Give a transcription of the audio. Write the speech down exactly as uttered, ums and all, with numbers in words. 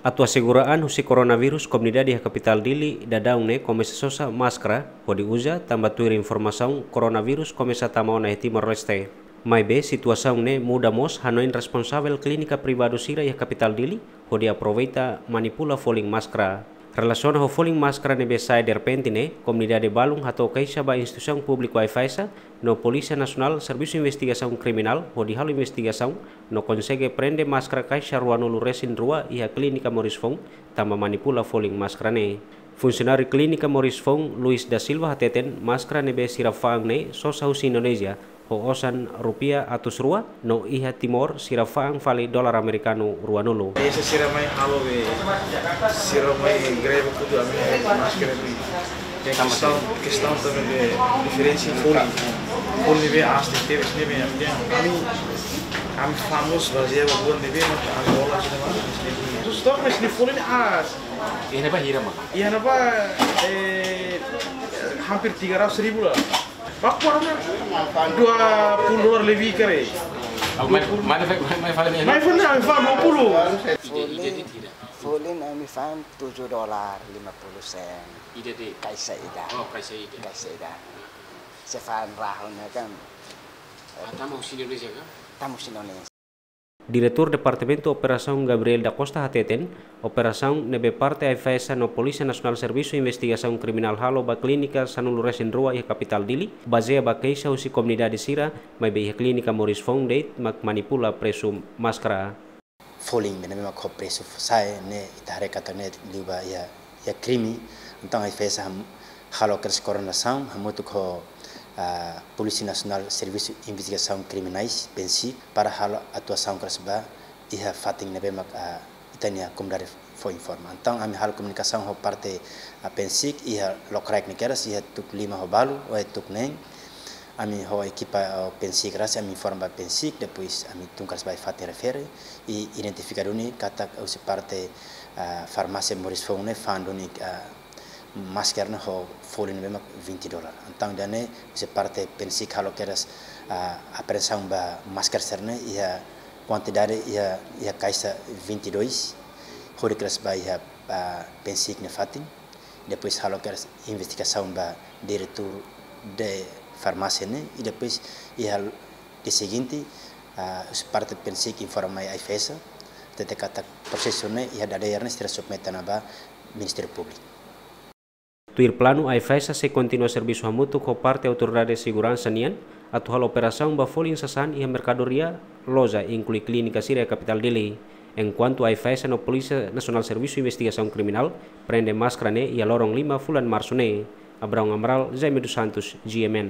Atu asegura an husi koronavírus, komunidade iha kapitál Dili daudaun ne'e komesa sosa máskara hodi uza, tanba tuir informasaun koronavírus komesa tama ona iha Timor-Leste. Maibé situasaun ne'e muda mós hanoin responsavel klínika privadu sira iha kapitál Dili hodi aproveita manipula folin máskara. Relasiona ho folin máskara ne'ebé sai derrepente ne'e, komunidade balun hato'o keixa ba instituisaun públiku AIFAESA no Polísia Nasionál Servisu Investigasaun Kriminál hodi halo investigasaun no konsege prende máskara kaixa ruanulu resin rua iha klínika Moris Foun, tanba manipula folin máskara ne'e. Funsionáriu klínika Moris Foun, Luis da Silva, hateten máskara ne'ebé sira fa'an ne'e sosa husi Indonézia ho osan rupiah atus rua, no iha Timor sira fa'an fali dolar amerikanu ruanulu. Ese sira mai halo be, sira mai greve kudu ami máskara be. Kestaun, kestaun tanba be diferensa folin. Folin be aas tebes ne'ebé ami, ami famozu bazeia ba buat ne'ebé mak Angola sira mai. Stok mas ni folin aas. Iha ne'ebá hira, mano? Iha ne'ebá, eh, hampir tiga ratus ribu lah. Baku warna dua puluh dolar lebih kere. Aku mai, mai, mai, mai fali ne'e. Mai fali, mai fali dua puluh. Ida, ida, ida, ida. Folin, folin ami fa'an tujuh dolar lima puluh sen. Ida de'it. Kaixa ida. Oh, kaixa ida. Kaixa ida. Se fa'an rahun ne'e kan. Ah, tama husi Indonézia ka? Tama husi Indonézia. Diretór Departamentu Operasaun Gabriel da Costa hateten, operasaun ne'ebé parte AIFAESA no Polísia Nasionál Servisu Investigasaun Kriminál halo ba klínika sanulu resin rua iha kapitál Dili, bazeia ba keixa husi komunidade sira, maibé iha klínika Moris Foun de'it mak manipula presu máskara. Folin be ne'ebé mak ho presu sai ne'e ita haree katak ne'e liu ba iha, iha krime. Entaun AIFAESA ham-, halo kedas koordenasaun hamutuk ho, ah, Polísia Nasionál Servisu Investigasaun Kriminál, PNSIK, para halo atuasaun kedas ba iha fatin ne'ebé mak, ah, ita-nia komunidade fó informa. Entaun ami halo komunikasaun ho parte, ah, PNSIK iha lokraik ne'e kedas iha tuku lima ho balu, ou iha tuku neen. Ami ho ekipa, ah, PNSIK rasik, ami informa ba PNSIK, depois ami tun kedas ba iha fatin refere, i identifika duni katak husi parte, ah, farmásia Moris Foun ne'e fa'an duni, ah, máskara ne'e ho folin ne'ebé mak vinte dolar. Entaun ida-ne'e husi parte PNSIK halo kedas, ah, apreensaun ba máskara sira-ne'e iha kuantidade iha, iha kaixa vinte e dois, hodi kedas ba iha, ah, PNSIK nia fatin. Depois halo kedas investigasaun ba diretór de farmásia ne'e, i depois iha dia seguinte, ah, husi parte PNSIK informa mai AIFAESA, hatete katak prosesu ne'e iha dadeer ne'e sira submete ona ba Ministériu Públiku. Tuir planu, AIFAESA sei kontinua servisu hamutuk ho parte autoridade seguransa nian, atu halo operasaun ba folin sasán iha merkadoria, loja, inklui klínika sira iha kapitál Dili. Enkuantu AIFAESA no Polísia Nasionál Servisu Investigasaun Kriminál prende máskara ne'e iha loron lima fulan Marsu ne'e. Abraão Amaral, Jaime dos Santos, G M N.